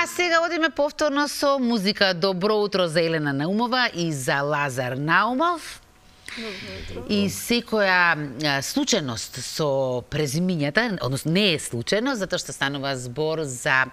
А сега одиме повторно со музика. Добро утро за Елена Наумова и за Лазар Наумов. И секоја случајност со презимињата, односно не е случајност, затоа што станува збор за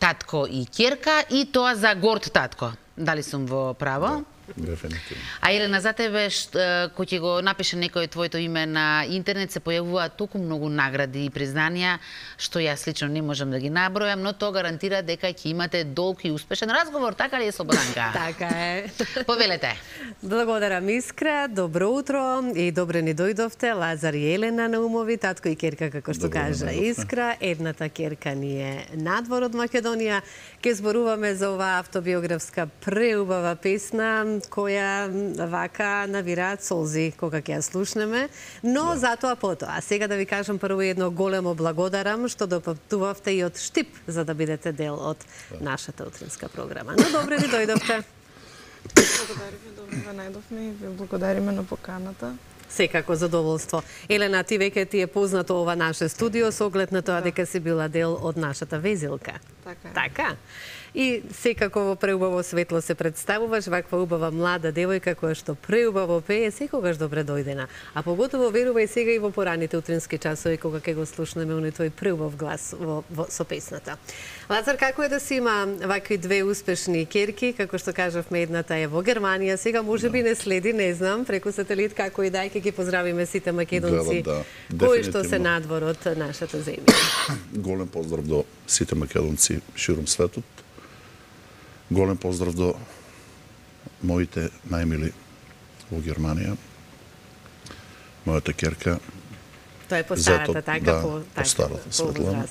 татко и ќерка и тоа за горд татко. Дали сум во право? Дефинитивно. А Елена, за тебе, кој ќе го напише некој твоето име на интернет, се појавуваат толку многу награди и признанија, што јас лично не можам да ги набројам, но тоа гарантира дека ќе имате долг и успешен разговор, така ли е, Слободанка? Така е. Повелете. Благодарам, Искра, добро утро и добре ни дојдовте, Лазар и Елена Наумови, татко и ќерка, како што кажа Искра. Едната ќерка ни е надвор од Македонија. Ке зборуваме за оваа автобиографска преубава песна, која вака навираат солзи кога ќе ја слушнеме, но затоа потоа. Сега да ви кажам прво едно големо благодарам што допатувавте и од Штип за да бидете дел од нашата утринска програма. Но добре ви дојдовте. Благодариме, добре ве најдовме и ви благодариме на поканата. Секако задоволство. Елена, ти веќе ти е познато ова наше студио со оглед на тоа дека си била дел од нашата везилка. Така е. Така? И секако во преубаво светло се представуваш, ваква убава млада девојка која што преубаво пее, секогаш добре дојдена. А поготово верувај сега и во пораните утрински часови кога ќе го слушнеме оној твој преубав глас со песната. Лазар, како е да си има вакви две успешни ќерки, како што кажавме, едната е во Германија, сега можеби не следи, не знам, преку сателит, како и дај, ќе ги поздравиме сите македонци кои што се надвор од нашата земја. Голем поздрав до сите македонци ширум светот. Голем поздрав до моите најмили во Германија. Мојата ќерка. Тоа е по старата, така? По старата, Светлана.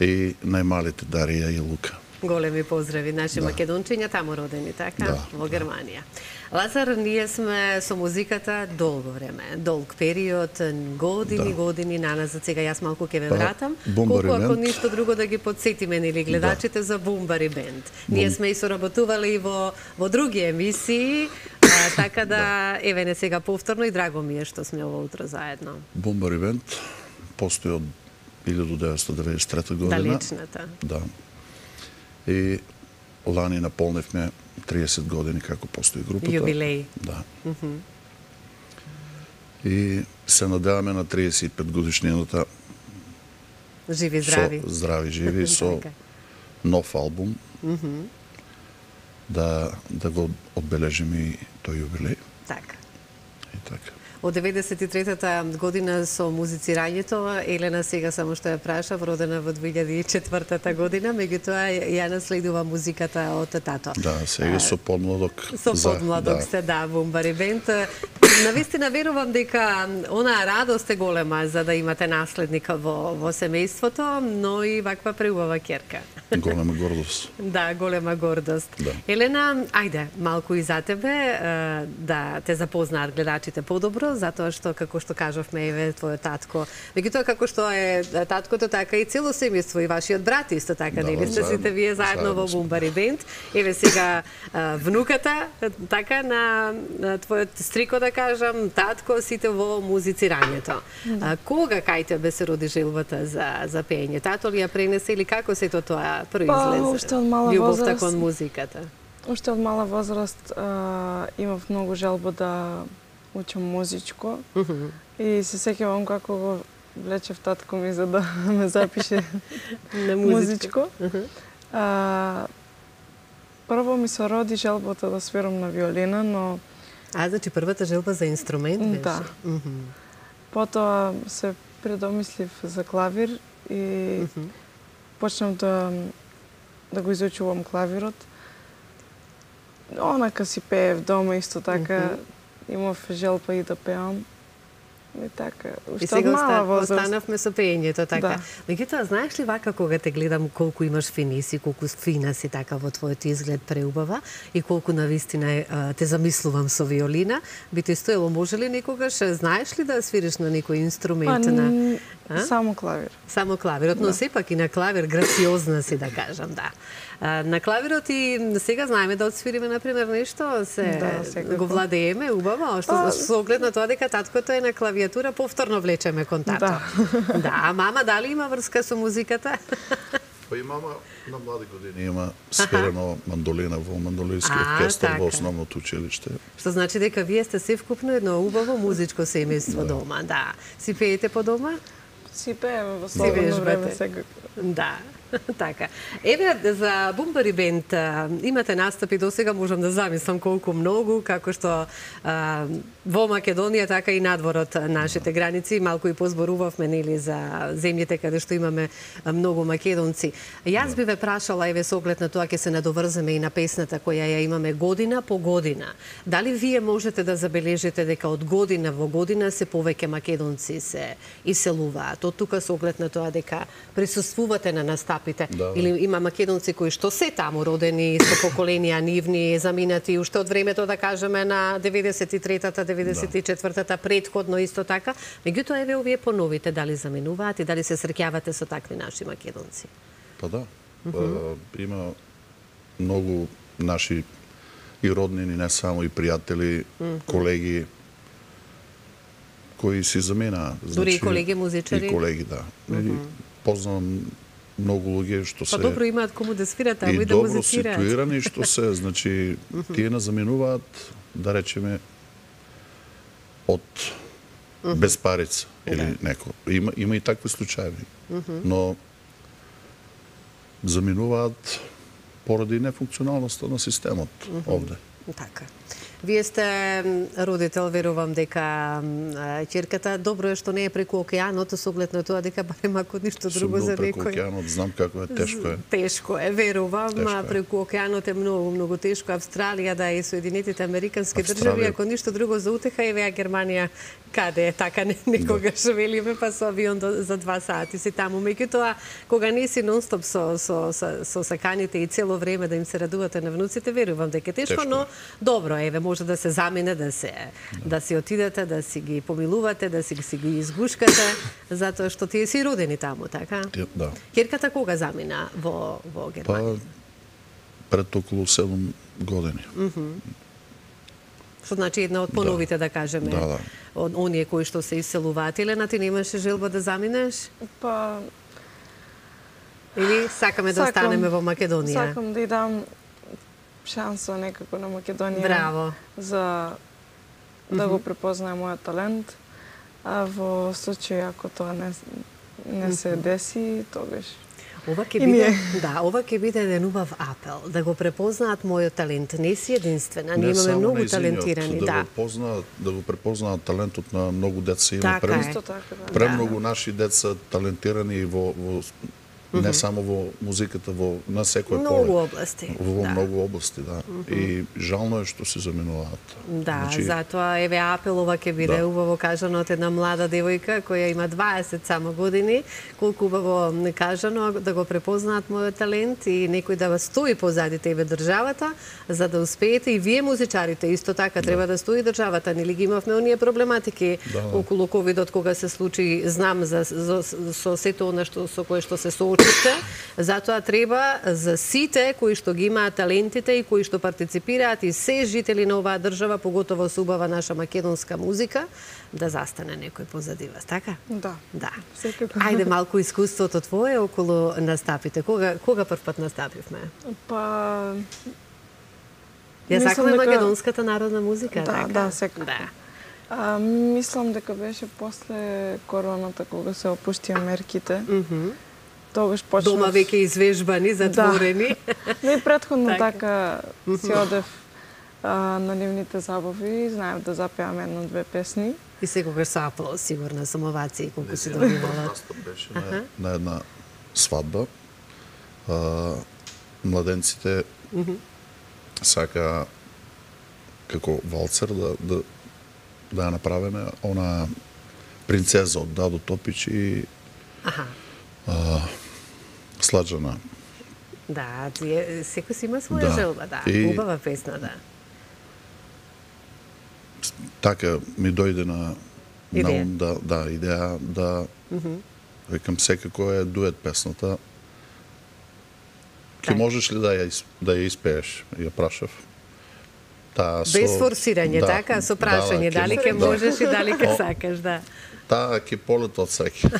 И најмалите Дарија и Лука. Големи поздрави, наши македончиња таму родени, така? Во Германија. Лазар, ние сме со музиката долго време, долг период, години наназад. Сега јас малку ќе ве вратам. Колку ако ништо друго да ги подсетиме нели гледачите за Бумбари бенд. Ние сме и соработували и во други емисии, така да еве не сега повторно и драго ми е што сме ова утро заедно. Бумбари бенд постои од 1993 година. Далечната. Да. И лани наполнивме 30 години како постои групата. Јубилеј. Да. И се надеваме на 35 годишнината. Живи, здрави. Здрави, живи, со нов албум. Да го одбележиме и тој јубилеј. Така. И така. Од 93-та година со музицирањето, Елена сега само што ја прашав, родена во 2004-та година, меѓутоа ја наследува музиката од тато. Да, сега со подмладок. Со подмладок сте, да, Бумбари бенд. Навистина верувам дека онаа радост е голема за да имате наследник во семејството, но и ваква преубава ќерка. Голема гордост. Да, голема гордост. Да. Елена, ајде, малку и за тебе, да те запознаат гледачите подобро, затоа што, како што кажавме, еве, твојот татко. Меѓутоа, како што е таткото, така и цело семејство, и вашиот брат исто така, нели сте сите вие заедно во Бумбари бенд. Еве сега внуката, така, на твојот стрико, да кажам, татко, сите во музицирањето. Кога кај тебе се роди желбата за пеење? Тато ли ја пренесе или како сето тоа произлезе? Уште од мала возраст. Љубовта кон музиката. Уште од мала возраст имав многу желба да учам музичко и се сеќавам како го влечев татко ми за да ме запише на музичко. Прво ми се роди желбата да свирам на виолина, но... Значи првата желба за инструмент беше? Да. Потоа се предомислив за клавир и почнав да го изучувам клавирот. Онака си пеев дома исто така. Имав желба и да пеам. И така, уште од мала возраст. Останавме со пеењето, така. Да. Меѓутоа, знаеш ли вака кога те гледам колку имаш финиси, колку фина си така во твојот изглед преубава и колку навистина те замислувам со виолина, би те стоело, може ли некогаш, знаеш ли да свириш на некој инструмент? Само клавир. Само клавирот, но сепак и на клавир грациозна си, да кажам, да. На клавирот и сега знаеме да отсвириме, например, нешто, го владееме убаво, што со оглед на тоа дека таткото е на клавиатура, повторно влечеме кон тато. Да, а мама дали има врска со музиката? Па и мама на млади години има сверено мандолина во мандолински оркестар во основното училиште. Што значи дека вие сте севкупно едно убаво музичко семејство дома, да. Си пеете по дома? Си пееме во слободно време секако. Да. Така. Еве, за Бумбари Бенд имате настапи до сега, можам да замислам колку многу, како што во Македонија, така и надворот нашите граници. Малку и позборувавме, нели, за земјите каде што имаме многу македонци. Јас би ве прашала, еве, со оглед на тоа, ќе се надоврземе и на песната која ја имаме година по година. Дали вие можете да забележите дека од година во година се повеќе македонци се иселуваат? Од тука со оглед на тоа дека присуствувате на настапите, или има македонци кои што се таму родени, со поколенија нивни, заминати уште од времето, да кажеме, на 93-та, 94-та, предходно исто така. Меѓутоа, еве, овие поновите, дали заминуваат и дали се среќавате со такви наши македонци? Па да. Има многу наши и роднини, не само и пријатели, колеги, кои си замена. Дури и колеги музичари? И колеги, да. Познавам многу луѓе што се... Па добро имаат кому да свират, а и да добро музицираат. ситуирани, што се, значи, тие не заминуваат, да речеме, од безпарица или неко. Има и такви случаи, но заминуваат поради нефункционалноста на системот овде. Така. Вие сте родител, верувам дека ќерката добро е што не е преку океанот, со оглед на тоа дека барем ако ништо друго за некој. Преку океанот, знам како е, тешко е. Тешко е, верувам, преку океанот е многу тешко. Австралија, да, и Соединетите Американски држави, ако ништо друго за утеха, еве Германија, каде е така, некогаш велиме, па со авион за 2 сати си таму. Меѓутоа, кога не си нонстоп со саканите и цело време да им се радувате на внуците, верувам дека е тешко, но добро, еве, може да се замине, да си отидете, да си ги помилувате, да си ги изгушкате, затоа што тие си родени таму, така? Да. Ќерката кога замина во Германија? Пред околу 7 години. Што значи една од поновите, да кажеме, од оние кои што се иселуваат. Елена, ти немаше желба да заминеш? Па... Или сакаме да останеме во Македонија? Сакам да и дам шанса некако на Македонија. Браво. За да го препознае мојот талент. А во случај ако тоа не се деси, тогаш ова ќе биде еден убав апел, да го препознаат мојот талент. Не си единствена, ние имаме многу талентирани, да го препознаат талентот на многу деца, има премногу наши деца талентирани во не само во музиката, на секој поле. Многу области. Во многу области, да. И жално е што се заминуваат. Да, затоа еве апелова ќе биде убаво кажано од една млада девојка која има 20 само години, колку убаво кажано да го препознаат мојот талент и некој да вас стои позади тебе државата, за да успеете и вие музичарите исто така треба да стои државата. Нели ги имавме оние проблематики околу ковидот кога се случи, знам со сето она со кое што се соочите, затоа треба за сите кои што ги имаат талентите и кои што партиципираат и се жители на оваа држава, поготово со убава наша македонска музика, да застане некој позади вас, така? Да. Секако. Ајде малку искуството твое околу настапите. Кога прв пат настапивме? Па... Ја сакаме македонската народна музика, така? Да, секако. Мислам дека беше после короната, кога се опуштија мерките. Тогаш почнав... Дома веќе извежбани, затворени. Не и предходно така си одев на нивните забави, знаев да запеам 1-2 песни. И секогаш со аплауз, сигурно, со овации, колку си добивала. Настап беше на една свадба. Младенците сака како валцер да ја направиме она принцеза од Дадо Топич и Сладжана. Да, секој си има своја желба, да. Убава песна, да. Така ми дојде на ум идеја да викам секако е дует песната. Ке можеш ли да ја испееш? Ја прашав. Без форсирање, така, со прашање, дали ке можеш и дали ке сакаш, да. таа ќе полета од сеќа.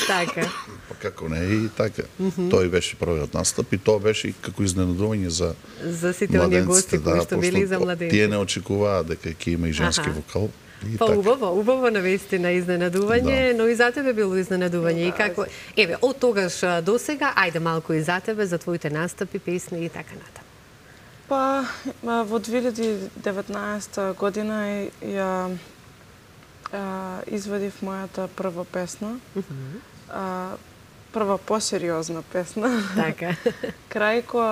Така. Па како не, и така. Тој беше првиот настап и тоа беше и како изненадување за сите оние гости кои што били за младенци. Тие не очекуваат дека ќе има и женски вокал. Па убаво навистина изненадување, но и за тебе било изненадување. И како, еве, од тогаш до сега, ајде малку и за тебе, за твоите настапи, песни и така натаму. Па, во 2019 година ја извадив мојата прва песна. Прва посериозна песна. Така. Крајко,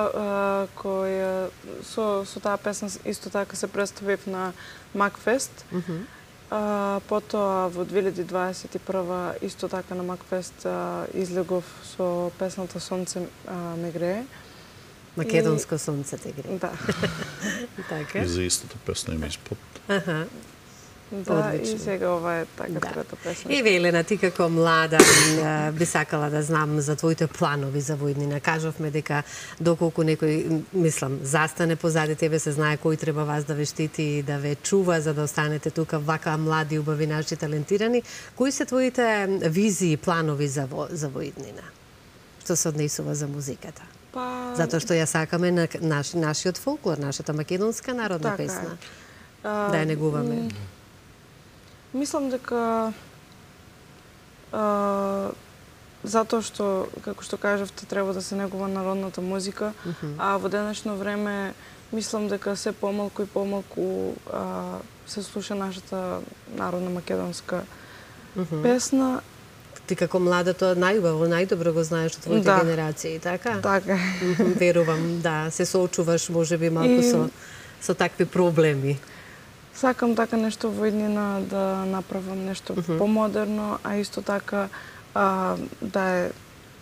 која со таа песна исто така се представив на Макфест. Потоа во 2021 исто така на Макфест излегов со песната Сонце ме грее. Македонско сонце те грее. Да. И за истата песна има испод. Да, Одлично. и сега ова е така трета песна. Еве, Елена, ти како млада би сакала да знам за твоите планови за во иднина. Кажавме дека доколку некој, мислам, застане позади тебе, се знае кој треба вас да ве штити и да ве чува за да останете тука вака млади, убави, наши талентирани. Кои се твоите визии, планови за во иднина? Што се однесува за музиката? Па, Затоа што ја сакаме на нашиот фолклор, нашата македонска народна така песна. е. Да ја негуваме. Мислам дека затоа што, како што кажавте, треба да се негува народната музика, а во денешно време мислам дека се помалку и помалку се слуша нашата народна македонска песна. Ти како млада тоа најубаво, најдобро го знаеш од твоите генерации, така? Така. Верувам, да, се соочуваш можеби малку со такви проблеми. Сакам така нешто во иднина да направам нешто помодерно, а исто така да е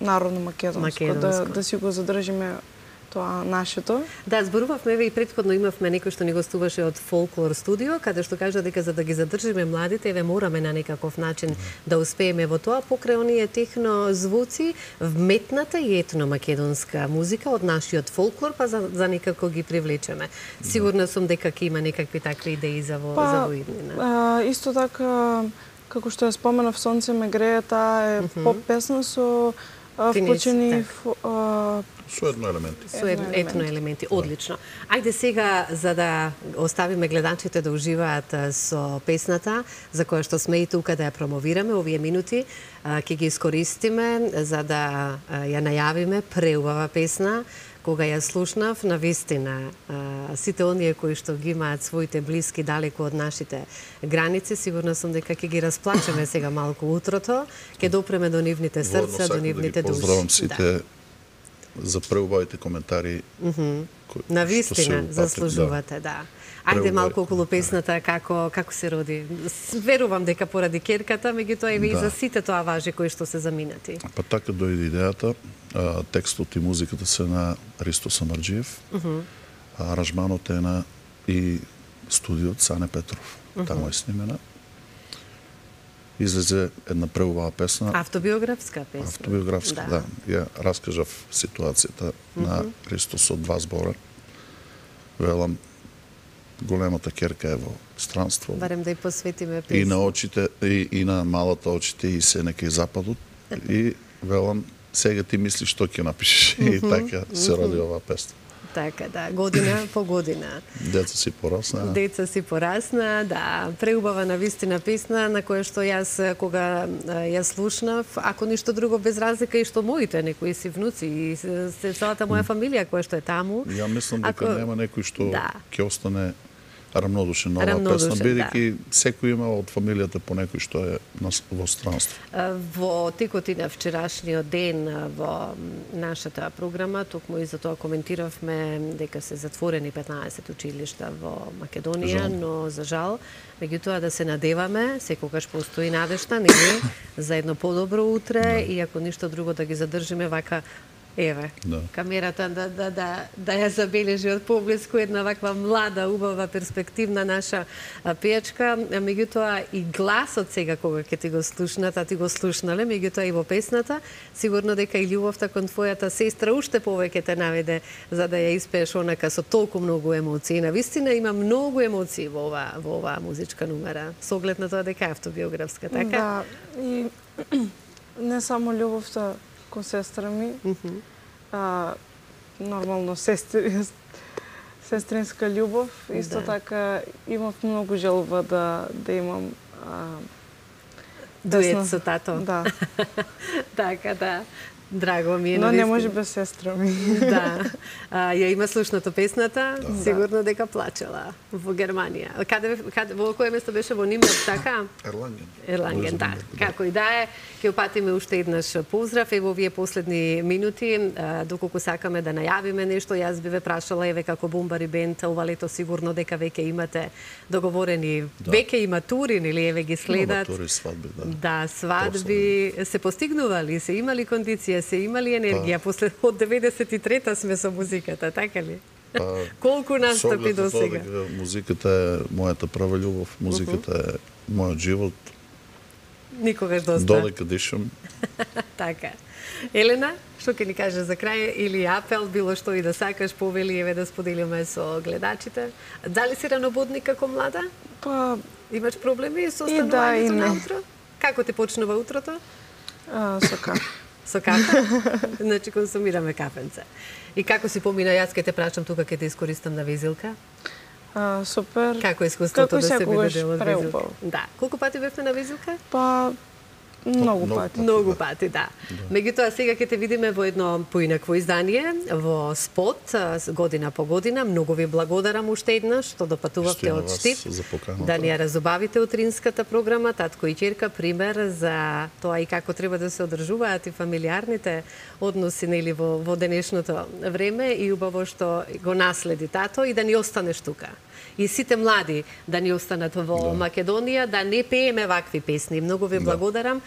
народно македонско, да си го задржиме тоа нашето. Да, зборувавме еве и претходно имавме некој што ни гостуваше од Фолклор студио, каде што кажа дека за да ги задржиме младите, еве мораме на некаков начин да успееме во тоа покрај оние техно звуци, вметната и етно македонска музика од нашиот фолклор, па за некако ги привлечеме. Сигурна сум дека ќе има некакви такви идеи за во иднина. Исто така, како што ја споменав, Сонце ме грее, таа е поп песна со вклучени Со етно елементи. Со етно елементи, одлично. Ајде сега, за да оставиме гледачите да уживаат со песната, за која што сме и тука да ја промовираме овие минути, ќе ги искористиме за да ја најавиме преубава песна. Кога ја слушнав, навистина, сите оние кои што ги имаат своите блиски далеку од нашите граници, сигурна сум дека ќе ги расплачеме сега малку утрото, ќе допреме до нивните срца, до нивните души. Поздравам сите за преубавите коментари. Навистина заслужувате, да. Ајде малку околу песната како се роди. Верувам дека поради керката, меѓутоа и за сите тоа важи кои што се заминати. Па така дојде идејата. Текстот и музиката се на Ристо Самарџиев. Аранжманот е на и студиот Сане Петров. Таму е снимена. Излезе една преубава песна. Автобиографска песна. Автобиографска, да. Ја раскажав ситуацијата на Ристос од 2 збора. Велам, големата керка е во странство. Барем да ја посветиме песна. И на очите, и на малата очите, и се некај западот. И велам, сега ти мислиш што ќе напишеш. И така се роди оваа песна. Така, да, година по година. Деца си порасна. Деца си порасна, да. Преубава навистина песна на која што јас кога ја слушнав, ако ништо друго без разлика и што моите некои си внуци и се целата моја фамилија која што е таму. Ја мислам дека нема некој што ќе остане рамнодушен на оваа песна, бидејќи секој има од фамилијата по некој што е во странство. Во текот и на вчерашниот ден во нашата програма, токму и за тоа коментиравме дека се затворени 15 училишта во Македонија, но за жал, меѓутоа да се надеваме, секогаш постои надежта, нели, за едно подобро утре и ако ништо друго да ги задржиме вака Еве, Да. камерата да ја забележи од поблиску една ваква млада, убава, перспективна наша пејачка, меѓутоа и гласот сега кога ќе ти го слушнат, а ти го слушнале, меѓутоа и во песната, сигурно дека и љубовта кон твојата сестра уште повеќе те наведе за да ја испееш онака со толку многу емоции. Навистина има многу емоции во оваа музичка нумера, со оглед на тоа дека е автобиографска, така? Да, и не само љубовта кон сестра ми, нормално сестринска љубов, исто така имав многу желба да имам Дует со тато. Да. Така, да. Драго ми е. Но не може без сестра ми. Да. Ја има слушнато песната, сигурно дека плачела во Германија. Во кое место беше, во Нимбург, така? Ерланген, да. Како и да е, ќе упатиме уште еднаш поздрав. Ево овие последни минути, доколку сакаме да најавиме нешто, јас би ве прашала, еве како Бумбари бенд, ова лето сигурно дека веќе имате договорени, веќе има тури, нели, еве ги следат. Тури, свадби, да. Да, свадби се постигнували, се имали кондиција, се имали енергија, после од 93-та сме со музиката, така ли? Колку настапи до сега? Музиката е мојата прва љубов, музиката е мојот живот. Никогаш доста. Додека дишам. Така. Елена, што ќе ни кажеш за крај или апел, било што и да сакаш, повели, еве да споделиме со гледачите. Дали си ранобудник како млада? Па, Имаш проблеми со и да, и станувањето не. на утро? Како ти почнува утрото? со кафе. Со кафе? Значи консумираме кафенце. И како си помина, јас ке те прашам тука, ке те искористам на визилка? Супер. Како е искуството да се биде секогаш дел од визилка? преубаво. Да. Колку пати бевте на визилка? Па, многу пати. Многу пати, да. Меѓутоа сега ќе те видиме во едно поинакво издание, во спот, година по година. Многу ви благодарам уште еднаш што допатувавте од Штип. Да ни ја разубавите утринската програма, татко и ќерка, пример за тоа и како треба да се одржуваат и фамилиарните односи, нели, во денешното време, и убаво што го наследи тато и да ни останеш тука. И сите млади да ни останат во Македонија, да не пееме вакви песни. Многу ви благодарам.